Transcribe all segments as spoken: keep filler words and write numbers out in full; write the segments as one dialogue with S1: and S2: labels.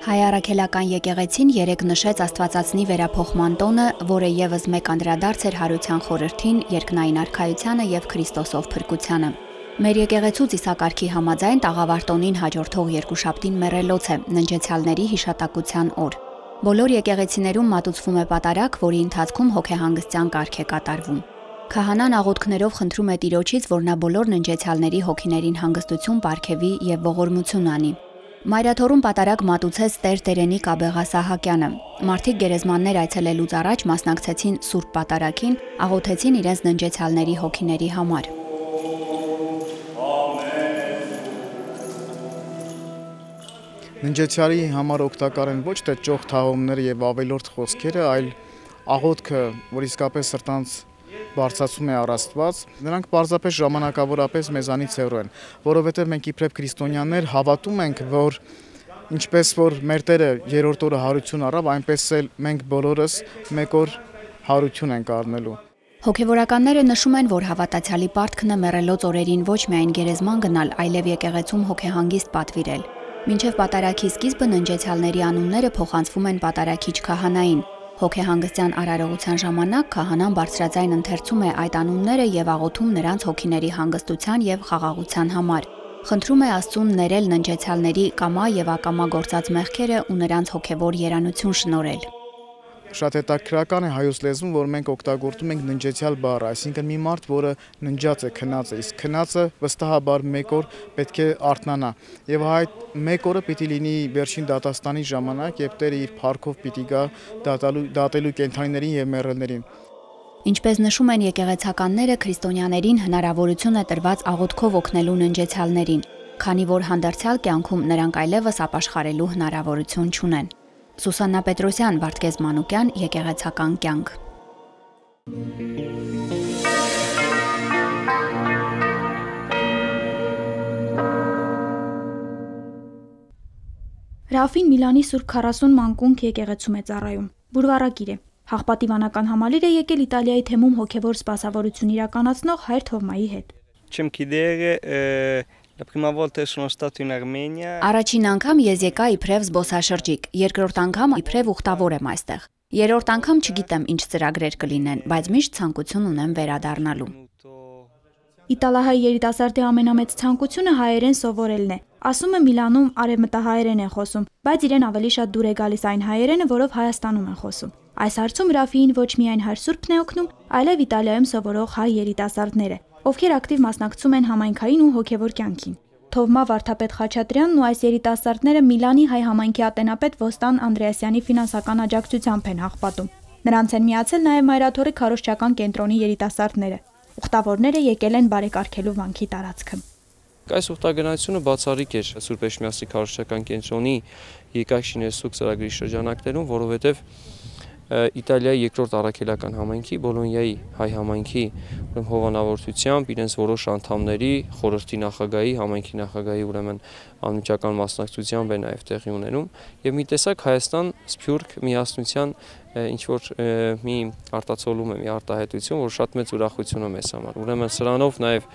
S1: Հայ առաքելական եկեղեցին երեկ նշեց Աստվածածնի վերափոխման տոնը, որը ևս մեկ անդրադարձ էր հարության խորհրդին, երկնային արքայությանը եւ Քրիստոսով փրկությանը։ Մեր եկեղեցու ծիսակարգի համաձայն տաղավարտոնին հաջորդող երկուշաբթին մեռելոց է, ննջեցյալների հիշատակության օր։ Բոլոր եկեղեցիներում մատուցվում է պատարագ, որի ընթացքում հոգեհանգստյան կարգ է կատարվում։ Քահանան աղոթքներով խնդրում է Տիրոջից, որ նա բոլոր ննջեցյալների հոգիներին հանգստություն պարգևի եւ ողորմություն անի։ Մայրաթորում պատարագ մատուցեց Տեր Տերենիկ Աբեղասահակյանը։ Մարդիկ գերեզմաններ այցելելուց առաջ մասնակցեցին Սուրբ Պատարագին, աղոթեցին իրենց ննջեցյալների հոգիների համար։
S2: Ննջեցյալի համար օգտակար են ոչ թե ճոխ թաղումները եւ ավելորդ խոսքերը, այլ աղոթքը, որ իսկապես սրտանց բարձրացում է առ Աստված, նրանք պարզապես ժամանակավորապես մեզանից հեռու են, որովհետև մենք իբրև քրիստոնյաներ հավատում ենք, որ ինչպես որ մեր Տերը երրորդ օրը հարություն առավ, այնպես էլ մենք բոլորս մեկ օր հարություն ենք առնելու։
S1: Հոգևորականները նշում են, որ հավատացյալի պարտքն է մեռելոց օրերին ոչ միայն գերեզման գնալ, այլև եկեղեցում հոգեհանգիստ պատվիրել։ Մինչև պատարագի սկիզբը ննջեցյալների անունները փոխանցվում են պատարագիչ քահանային։ Հոգեհանգստյան արարողության ժամանակ քահանան բարձրաձայն ընթերցում է այդ անունները եւ աղոթում նրանց հոգիների հանգստության եւ խաղաղության համար։ Խնդրում է Աստծուն ներել ննջեցյալների կամա եւ ակամա գործած մեղքերը ու նրանց հոգեվոր երանություն շնորհել։
S2: Շատ հետաքրքրական է հայոց լեզվում, որ մենք օգտագործում ենք ննջեցյալ բառը, այսինքն մի մարդ, որը ննջած է, քնած է, իսկ քնածը վստահաբար մեկ օր պետք է արթնանա։ Եվ այդ մեկ օրը պիտի լինի վերջին դատաստանի ժամանակ, եւ Տերը իր փառքով պիտի գա դատալու դատելու կենդանիներին եւ մեռելներին։
S1: Ինչպես նշում են եկեղեցականները, քրիստոնյաներին հնարավորություն է տրված աղոթքով օգնելու ննջեցյալներին, քանի որ հանդերձյալ կյանքում նրանք այլևս ապաշխարելու հնարավորություն չունեն։ Սուսաննա Պետրոսյան, Վարդգես Մանուկյան, Եկեղեցական կյանք։
S3: Ռաֆին Միլանի Սուրբ քառասուն մանկունք եկեղեցում է ծառայում։ Բուրվարակիր է։ Հաղպատի վանական համալիր է եկել Իտալիայի թեմում հոգևոր սպասավորություն իրականացնող Հայր Թովմայի հետ։
S4: Չեմ գիտեր
S1: Առաջին անգամ ես եկա իբրև զբոսաշրջիկ, երկրորդ անգամ իբրև ուխտավոր եմ այստեղ։ Երրորդ անգամ չգիտեմ ինչ ծրագրեր կլինեն, բայց միշտ ցանկություն ունեմ վերադառնալու։
S3: Իտալահայ երիտասարդի ամենամեծ ցանկությունը հայերեն սովորելն է։ Ասում է Միլանում արևմտահայերեն են խոսում, բայց իրեն ավելի շատ դուր է գալիս այն հայերենը, որով Հայաստանում են խոսում։ Այս հարցում Ռաֆիին ոչ միայն Հայր Սուրբն է օգնում, այլև Իտալիայում սովորող հայ երիտասարդները, ովքեր ակտիվ մասնակցում են համայնքային ու հոգևոր կյանքին։ Թովմա Վարդապետ Խաչատրյանն ու այս երիտասարդները Միլանի հայ համայնքի ատենապետ Ոստան Անդրեասյանի ֆինանսական աջակցությամբ են հաղպատում։ Նրանց են միացել նաև Մայրաթորի քարոզչական կենտրոնի երիտասարդները։ Ուխտավորները եկել են բարեկարգելու վանքի տարածքը։
S4: Այս ուխտագնացությունը բացառիկ էր Սուրբ Էշմիածնի քարոզչական կենտրոնի Եկայք Շինեսուկ ծրագրի շրջանակներում, որովհետև Իտալիայի երկրորդ առաքելական համայնքի, Բոլոնիայի հայ համայնքի հովանավորությամբ իրենց որոշ անդամների, խորհրդի նախագահի, համայնքի նախագահի ուրեմն անմիջական մասնակցությամբ է նաև տեղի ունենում եւ մի տեսակ Հայաստան Սփյուռք միասնության ինչ որ մի արտացոլում է, մի արտահայտություն, որ շատ մեծ ուրախություն է մեզ համար։ Ուրեմն սրանով նաև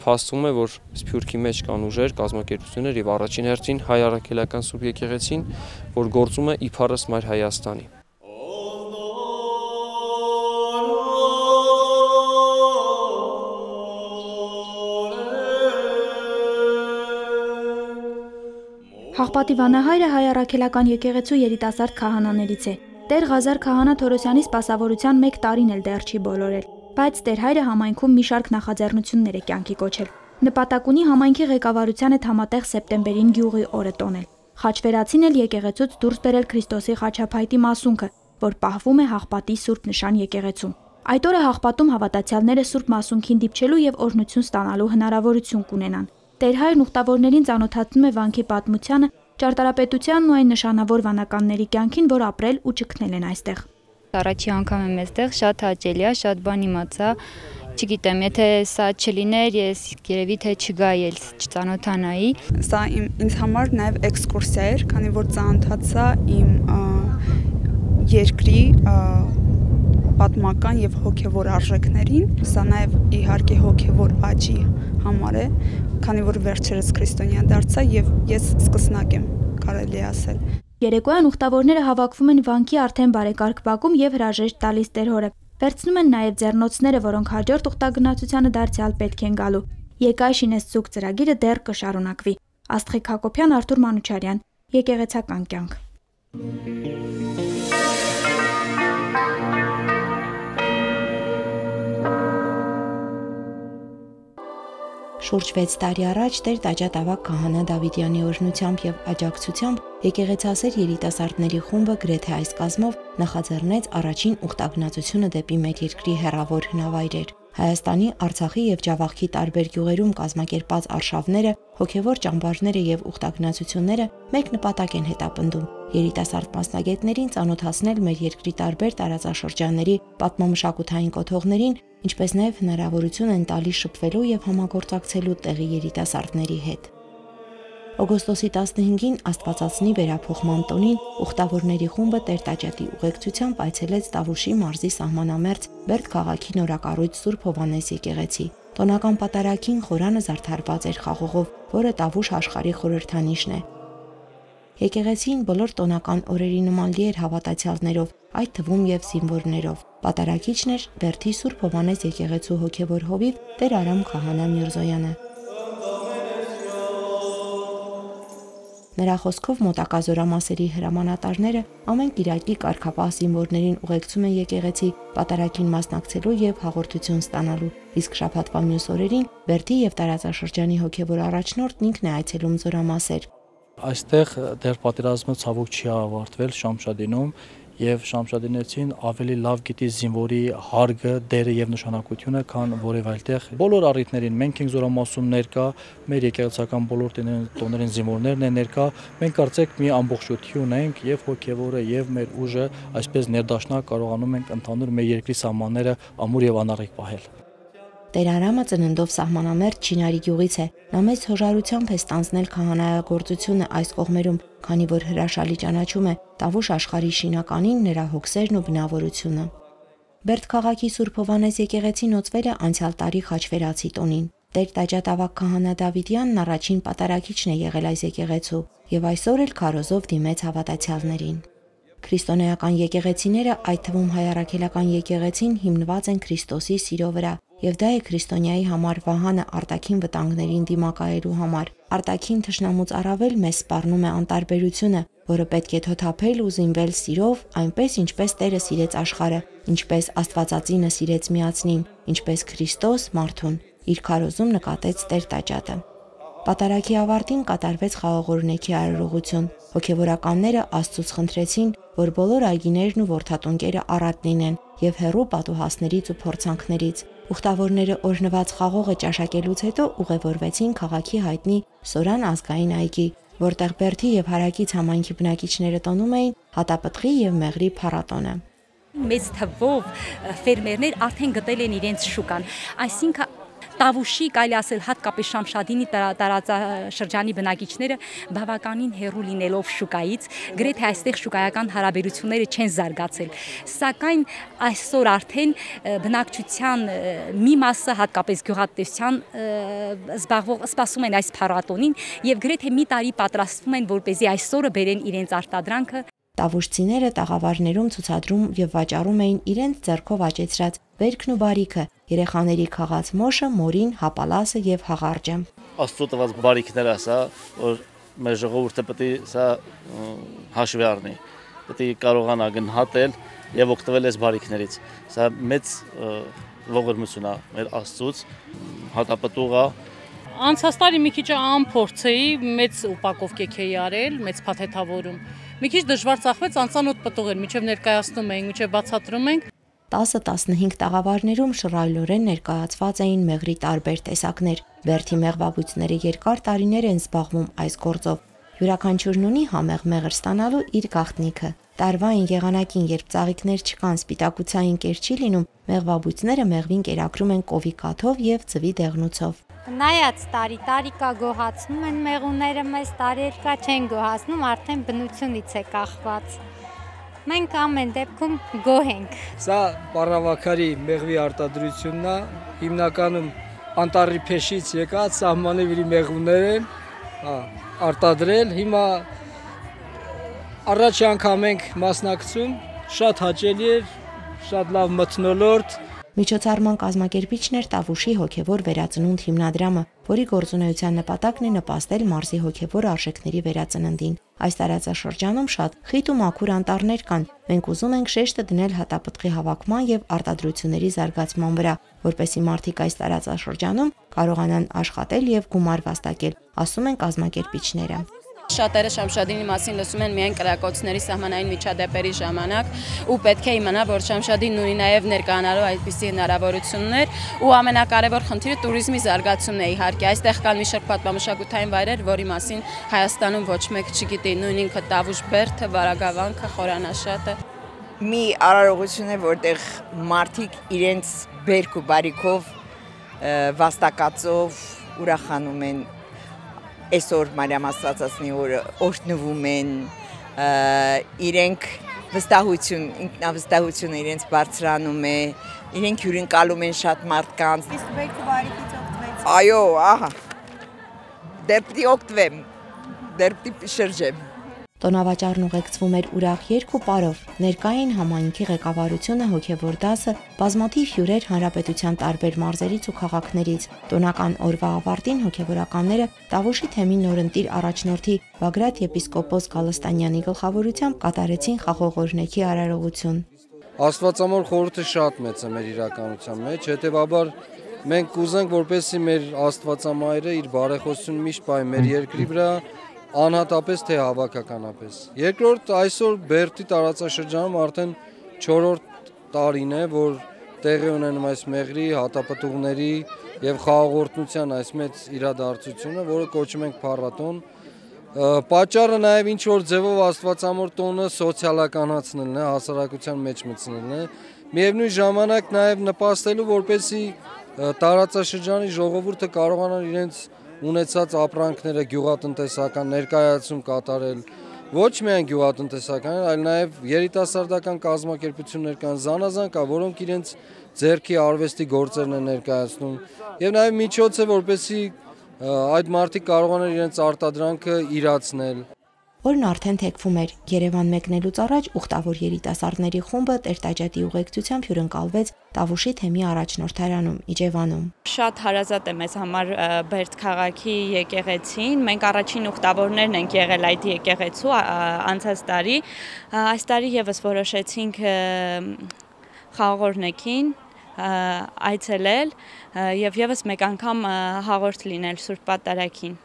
S4: փաստում է, որ Սփյուռքի մեջ կան ուժեր, կազմակերպություններ եւ առաջին հերթին հայ առաքելական Սուրբ եկեղեցին, որ գործում է իբարս Մայր Հայաստանի։
S3: Հաղպատի վանահայրը հայ առաքելական եկեղեցու երիտասարդ քահանաներից է։ Տեր Ղազար քահանա Թորոսյանի սպասավորության մեկ տարին էլ դեռ չի բոլորել, բայց Տեր հայրը համայնքում մի շարք նախաձեռնություններ է կյանքի կոչել։ Նպատակ ունի համայնքի ղեկավարության հետ համատեղ սեպտեմբերին գյուղի օրը տոնել։ Խաչվերացին էլ եկեղեցուց դուրս բերել Քրիստոսի խաչափայտի մասունքը, որ պահվում է Հաղպատի Սուրբ Նշան եկեղեցում։ Այդ օրը Հաղպատում հավատացյալները Սուրբ Մասունքին դիպչելու եւ օրհնություն ստանալու հնարավորություն կունենան։ Տեր հայրն ուխտավորներին ծանոթացնում է վանքի պատմությանը, ճարտարապետությանն ու այն նշանավոր վանականների կյանքին, որ ապրել ու ճգնել են այստեղ։
S5: Առաջի անգամ եմ այստեղ, շատ հաճելի է, շատ բան իմացա Չգիտեմ, եթե սա չլիներ, ես երևի թե չգայի էլ չծանոթանայի։
S6: Սա իմ ինձ համար նաև էքսկուրսիա էր, քանի որ ծանոթացա իմ երկրի պատմական եւ հոգեվոր արժեքներին։ Սա նաև իհարկե հոգեվոր աճի համար է, քանի որ վերջերս քրիստոնյա դարձա եւ ես սկսնակ եմ, կարելի ասել։
S3: Երեկոյան ուխտավորները հավաքվում են վանքի արդեն բարեկարգ բակում եւ հրաժեշտ տալիս տեր հորը։ Վերցնում են նաև ձեռնոցները, որոնք հաջորդ ուխտագնացությանը դարձյալ պետք են գալու։ Եկայշինես ցուկ ծրագիրը դեռ կշարունակվի։ Աստղիկ Հակոբյան, Արթուր Մանուչարյան, Եկեղեցական կյանք։
S7: Շուրջ վեց տարի առաջ Տեր Տաճատավակ Քահանա Դավիթյանի օրհնությամբ եւ աջակցությամբ եկեղեցասեր երիտասարդների խումբը գրեթե այս կազմով նախաձեռնեց առաջին ուխտագնացությունը դեպի մեր երկրի հեռավոր հնավայրեր։ Հայաստանի, Արցախի եւ Ջավախքի տարբեր գյուղերում կազմակերպած արշավները, հոգեվոր ճամբարները եւ ուխտագնացությունները մեկ նպատակ են հետապնդում՝ երիտասարդ մասնագետներին ծանոթացնել մեր երկրի տարբեր տարածաշրջանների պատմամշակութային կոթողներին, ինչպես նաև հնարավորություն են տալիս շփվելու եւ համագործակցելու տեղի երիտասարդների հետ։ Օգոստոսի տասնհինգին Աստվածածնի վերափոխման տոնին ուխտավորների խումբը Տեր Տաճատի ուղեկցությամբ այցելեց Տավուշի մարզի սահմանամերձ Բերդ քաղաքի նորակառույց Սուրբ Հովհաննես եկեղեցի։ Տոնական պատարագին խորանը զարդարված էր խաղողով, որը Տավուշ աշխարհի խորհրդանիշն է։ Եկեղեցին բոլոր տոնական օրերի նման լի էր հավատացյալներով, այդ թվում եւ զինվորներով։ Պատարագիչն էր Բերդի Սուրբ Հովհաննես եկեղեցու հոգեվոր հովիվ Տեր Արամ Քահանա Միրզոյանը։ Նրա խոսքով մոտակա զորամասերի հրամանատարները ամեն կիրակի կարգապահ զինվորներին ուղեկցում են եկեղեցի պատարագին մասնակցելու եւ հաղորդություն ստանալու, իսկ շաբաթվա մյուս օրերին Բերդի եւ տարածաշրջանի հոգեվոր առաջնորդն ինքն է այցելում զորամասեր։
S8: Այստեղ դեռ պատերազմը ցավոք չի ավարտվել Շամշադինում եւ Շամշադինեցին ավելի լավ գիտի զինվորի հարգը, դերը եւ նշանակությունը, քան որևէ այլտեղ։ Բոլոր առիթներին մենք ենք զորամասում ներկա, մեր եկեղեցական բոլոր տոներին զինվորներն են ներկա։ Մենք կարծեք մի ամբողջություն ենք եւ հոգեվորը եւ մեր ուժը այսպես ներդաշնակ կարողանում ենք ընդհանուր մեր երկրի սահմանները ամուր եւ անառիկ պահել։
S7: Տեր Արամը ծննդով սահմանամերձ Չինարի գյուղից է։ Նա մեծ հոժարությամբ է ստանձնել քահանայագործությունը այս կողմերում, քանի որ հրաշալի ճանաչում է Տավուշ աշխարհի շինականին, նրա հոգսերն ու բնավորությունը։ Բերդ քաղաքի Սուրբ Հովհաննես եկեղեցին օծվել է անցյալ տարի խաչվերացի տոնին։ Տեր Տաճատավակ Քահանա Դավիթյանն առաջին պատարագիչն է եղել այս եկեղեցու եւ այսօր էլ քարոզով դիմեց հավատացյալներին։ Քրիստոնեական եկեղեցիները, այդ թվում հայ առաքելական եկեղեցին, հիմնված են Քրիստոսի սիրո վրա, եւ դա է քրիստոնյայի համար վահանը արտաքին վտանգներին դիմակայելու համար։ Արտաքին թշնամուց առավել մեզ սպառնում է անտարբերությունը, որը պետք է թոթափել ու զինվել սիրով, այնպես ինչպես Տերը սիրեց աշխարհը, ինչպես Աստվածածինը սիրեց միացնին, ինչպես Քրիստոս մարդուն։ Իր քարոզում նկատեց Տեր Տաճատը։ Պատարագի ավարտին կատարվեց խաղողորնեքի արարողություն։ Հոգևորականները Աստծուց խնդրեցին, որ բոլոր այգիներն ու որդատունկերը առատ լինեն եւ հեռու պատուհասներից ու փորձանքներից։ Ուխտավորները օրհնված խաղողը ճաշակելուց հետո ուղևորվեցին քաղաքի հայտնի Սորան ազգային այգի, որտեղ Բերդի եւ Հարակից համայնքի բնակիչները տոնում էին հատապտղի եւ մեղրի փառատոնը։
S9: Մեծ թվով ֆերմերներ արդեն գտել են իրենց շուկան, այսինքն Տավուշի, կարելի ասել հատկապես Շամշադինի տարածաշրջանի բնակիչները բավականին հեռու լինելով շուկայից, գրեթե այստեղ շուկայական հարաբերությունները չեն զարգացել, սակայն այսօր արդեն բնակչության մի մասը, հատկապես գյուղատնտեսության զբաղվող, սպասում են այս փառատոնին եւ գրեթե մի տարի պատրաստվում են, որպեսզի այսօրը բերեն իրենց արտադրանքը։
S7: Տավուշցիները տաղավարներում ցուցադրում եւ վաճառում էին իրենց ձեռքով աճեցրած վերքն ու բարիքը, երեխաների խաղաց մոշը, մորին, հապալասը եւ հաղարջը։
S10: Աստծո տված բարիքները, սա, որ մեր ժողովուրդը պետք է սա հաշվի առնի, պետք է կարողանա գնահատել եւ օգտվել այս բարիքներից։ Սա մեծ ողորմություն է մեր Աստծուց, հատապտուղ է։
S11: Անցած տարի մի քիչ անփորձ էի, մեծ ուպակովկեք էի արել, մեծ փաթեթավորում։ Մի քիչ դժվար ծախվեց, անծանոթ պտուղ էր, մինչև ներկայացնում էինք, մինչև բացատրում ենք։
S7: տասը տասնհինգ տաղավարներում շռայլորեն ներկայացված էին մեղրի տարբեր տեսակներ։ Բերդի մեղվաբույծները երկար տարիներ են զբաղվում այս գործով։ Յուրաքանչյուրն ունի համեղ մեղր ստանալու իր գաղտնիքը։ Տարվային եղանակին, երբ ծաղիկներ չկան, սպիտակուցային կեր չի լինում, մեղվաբույծները մեղվին կերակրում են կովի կաթով եւ ձվի դեղնուցով։
S12: Նայած տարի տարիկա գոհացնում են մեղուները, մեզ տարերկա չեն գոհացնում, արդեն բնությունից է կախված։ Մենք ամեն դեպքում գոհ ենք։
S13: Սա պարավաքարի մեղվի արտադրությունն է, հիմնականում անտառի փեշից եկած սահմանի վրի մեղուներ են, հա, արտադրել, հիմա առաջ անգամ ենք մասնակցում, շատ հաճելի էր, շատ լավ մթնոլորտ։
S7: Միջոցառման կազմակերպիչն էր Տավուշի հոգևոր վերածնունդ հիմնադրամը, որի գործունեության նպատակն է նպաստել մարզի հոգևոր արժեքների վերածննդին։ Այս տարածաշրջանում շատ խիտ ու մաքուր անտառներ կան։ Մենք ուզում ենք շեշտը դնել հատապտղի հավաքման եւ արտադրությունների զարգացման վրա, որպեսզի մարդիկ այս տարածաշրջանում կարողանան աշխատել եւ գումար վաստակել, ասում են կազմակերպիչները։
S14: Շատերը Շամշադինի մասին լսում են միայն կրակոցների սահմանային միջադեպերի ժամանակ ու պետք է իմանա, որ Շամշադինն ունի նաև ներկայանալու այդպիսի հնարավորություններ ու ամենակարևոր խնդիրը տուրիզմի զարգացումն է իհարկե։ Այստեղ կան մի շարք պատմամշակութային վայրեր, որի մասին Հայաստանում ոչ մեկ չգիտի, նույն ինքը Տավուշ բերդը, Վարագավանքը, Խորանաշատը։
S15: Մի արարողություն է, որտեղ մարդիկ իրենց բերք ու բարիքով վաստակածով ուրախանում են այսօր Մարիամ Աստվածածնի օրը օրհնվում են, իրենք վստահություն, ինքնավստահությունը իրենց բարձրանում է, իրենք հյուրընկալում են շատ մարդկանց։
S16: Իսկ բերքը բարիքից օգտվեցիք։
S15: Այո, ահա։ Դեռ պիտի օգտվեմ, դեռ պիտի շրջեմ։
S7: Տոնավաճառն ուղեկցվում էր ուրախ երգ ու պարով, ներկային համայնքի ղեկավարությունը, հոգևոր դասը, բազմաթիվ հյուրեր հանրապետության տարբեր մարզերից ու քաղաքներից։ Տոնական օրվա ավարտին հոգևորականները Տավուշի թեմի նորընտիր առաջնորդի Բագրատ եպիսկոպոս Գալստանյանի գլխավորությամբ կատարեցին խաղողօրհնեքի արարողություն։
S17: Աստվածամոր խորհուրդը շատ մեծ է մեր իրականության մեջ, հետևաբար մենք կուզենք, որպեսզի մեր Աստվածամայրը իր բարեխոսությունը միշտ պահի մեր երկրի վրա, անհատապես թե հավաքականապես։ Երկրորդ, այսօր Բերդի տարածաշրջանում արդեն չորրորդ տարին է, որ տեղի ունենում այս մեղրի, հատապտուղների եւ խաղաղորդության այս մեծ իրադարձությունը, որը կոչում ենք փառատոն։ Պատճառը նաեւ ինչ որ ձևով Աստվածամոր տոնը սոցիալականացնելն է, հասարակության մեջ մտցնելն է, միևնույն ժամանակ նաեւ նպաստելու, որպեսզի տարածաշրջանի ժողովուրդը կարողանան իրենց ունեցած ապրանքները գյուղատնտեսական ներկայացում կատարել, ոչ միայն գյուղատնտեսական, այլ նաև երիտասարդական կազմակերպություններ կան, զանազան կա, որոնք իրենց ձեռքի արվեստի գործերն են ներկայացնում, եւ նաև միջոց է, որպեսզի այդ մարդիկ կարողանան իրենց արտադրանքը իրացնել։
S7: Օրն արդեն թեքվում էր։ Երևան մեկնելուց առաջ ուխտավոր երիտասարդների խումբը Տեր-Տաջատի ուղեկցությամբ հյուրընկալվեց Տավուշի թեմի առաջնորդարանում Իջևանում։
S18: Շատ հարազատ է մեզ համար Բերդ քաղաքի եկեղեցին։ Մենք առաջին ուխտավորներն ենք եղել այդ եկեղեցու անցած տարի։ Այս տարի եւս որոշեցինք խաղողօրհնեքին այցելել եւ եւս մեկ անգամ հաղորդ լինել Սուրբ Պատարագին։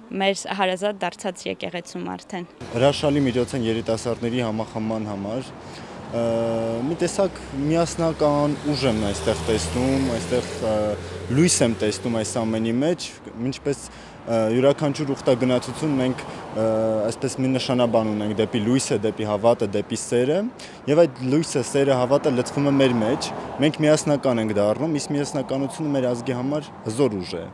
S18: Մեր հարազատ դարձած եկեղեցում արդեն։
S19: Հրաշալի միջոց են երիտասարդների համախմբման համար։ Մի տեսակ միասնական ուժ եմ այստեղ տեսնում, այստեղ լույս եմ տեսնում այս ամենի մեջ, ինչպես յուրաքանչյուր ուխտագնացություն մենք այսպես մի նշանաբան ունենք դեպի լույսը, դեպի հավատը, դեպի սերը, եւ այդ լույսը, սերը, հավատը լցվում է մեր մեջ, մենք միասնական ենք դառնում, իսկ միասնականությունը մեր ազգի համար հզոր ուժ է։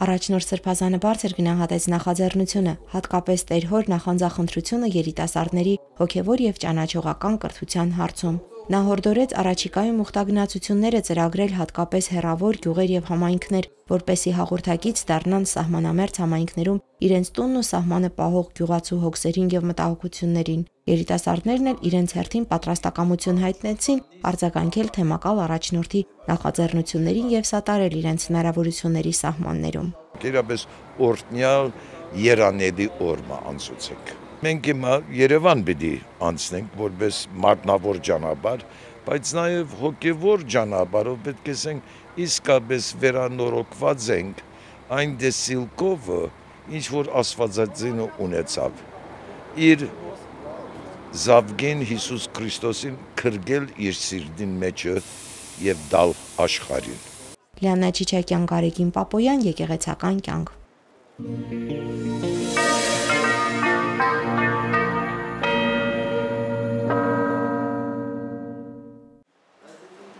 S7: Առաջնորդ Սրբազանը բարձր գնահատեց նախաձեռնությունը, հատկապես Տեր-հոր նախանձախնդրությունը երիտասարդների հոգևոր եւ ճանաչողական կրթության հարցում։ Նա հորդորեց առաջիկայում ուխտագնացությունները ծրագրել հատկապես հեռավոր գյուղեր եւ համայնքներ, որպեսզի հաղորդակից դառնան սահմանամերձ համայնքներում իրենց տունն ու սահմանը պահող գյուղացու հոգսերին եւ մտահոգություններին։ Երիտասարդներն էլ իրենց հերթին պատրաստակամություն հայտնեցին արձագանքել թեմակալ առաջնորդի նախաձեռնություններին եւ սատարել իրենց հնարավորությունների սահմաններում։
S20: Գերաբես օրտնյալ երանելի օրմա անցուցենք։ Մենք հիմա Երևան պիտի անցնենք որպես մարտնավոր ճանապարհ, բայց նաև հոգևոր ճանապարհով պետք է ասենք իսկապես վերանորոգված ենք այն դեսիլկով, ինչ որ Աստվածածինը ունեցավ։ Իր Զավգեն Հիսուս Քրիստոսին քրգել իր սիրտին մեջը եւ դալ աշխարհին։
S7: Լիանա Չիչակյան, Գարեգին Պապոյան, եկեղեցական կյանք։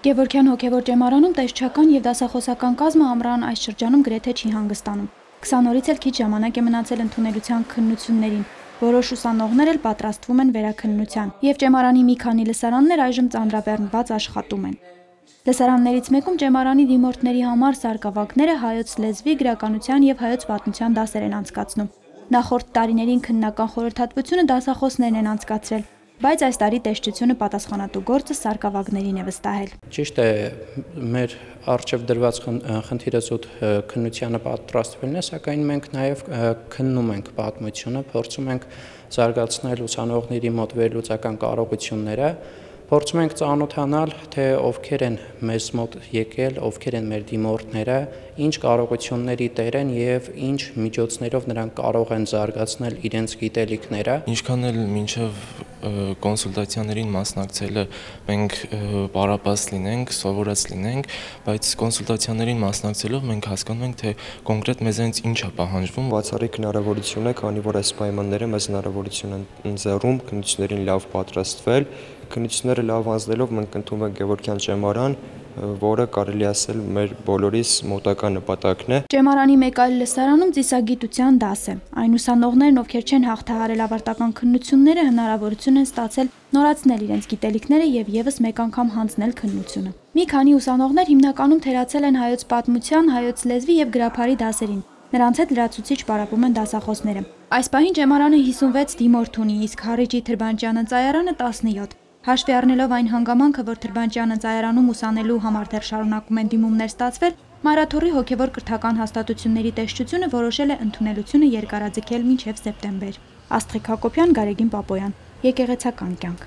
S3: Գևորգյան հոգևոր ճեմարանում տեսչական եւ դասախոսական կազմը ամռան այս շրջանում գրեթե չի հանգստանում։ քսան օրից էլ քիչ ժամանակ է մնացել ընդունելության քննություններին։ Որոշ ուսանողներ էլ պատրաստվում են վերաքննության, եւ ճեմարանի մի քանի լսարաններ այժմ ծանրաբեռնված աշխատում են։ Լսարաններից մեկում ճեմարանի դիմորդների համար սարկավագները հայոց լեզվի, գրականության եւ հայոց պատմության դասեր են անցկացնում։ Նախորդ տարիներին քննական խորհրդատվությունը դասախոսներն են անցկացրել, բայց այս տարի տեսչությունը պատասխանատու գործը սարկավագներին է վստահել։
S21: Ճիշտ է, մեր առջև դրված խնդիրը զուտ քննությանը պատրաստվելն է, սակայն մենք նաև քննում ենք պատմությունը, փորձում ենք զարգացնել ուսանողների մոտ վերլուծական կարողությունները, փորձում ենք ծանոթանալ, թե ովքեր են մեզ մոտ եկել, ովքեր են մեր դիմորդները, ինչ կարողությունների տեր են եւ ինչ միջոցներով նրանք կարող են զարգացնել իրենց գիտելիքները։
S22: Ինչքան էլ մինչև կոնսուլտացիաներին մասնակցելը մենք պարապած լինենք, սովորած լինենք, բայց կոնսուլտացիաներին մասնակցելով մենք հասկանում ենք, թե կոնկրետ մեզանից ինչ է պահանջվում։
S23: Բացառիկ հնարավորություն է, քանի որ այս պայմանները մեզ հնարավորություն են ընձեռում քննություններին լավ պատրաստվել։ Քննությունները լավ անցնելով մենք ընդունում ենք Գևորգյան ճեմարան, որը կարելի ասել մեր բոլորիս մոտակա նպատակն է։
S3: Ճեմարանի մեկ այլ լսարանում ծիսագիտության դաս է։ Այն ուսանողներն, ովքեր չեն հաղթահարել ավարտական քննությունները, հնարավորություն են ստացել նորացնել իրենց գիտելիքները եւ եւս մեկ անգամ հանձնել քննությունը։ Մի քանի ուսանողներ հիմնականում թերացել են հայոց պատմության, հայոց լեզվի եւ գրափարի դասերին։ Նրանց հետ լրացուցիչ պարապում են դասախոսները։ Այս պահին ճեմարանը հիսունվեց դիմորդ ունի, իսկ Հառիջի Թրբանջյանը ծայարանը տասնյոթ։ Հաշվի առնելով այն հանգամանքը, որ Թրբանջյանը ծայարանում ուսանելու համար դեռ շարունակում են դիմումներ ստացվել, Մարաթոռի հոգևոր կրթական հաստատությունների տեսչությունը որոշել է ընդունելությունը երկարաձգել մինչև սեպտեմբեր։ Աստղիկ Հակոբյան, Գարեգին Պապոյան, Եկեղեցական կյանք։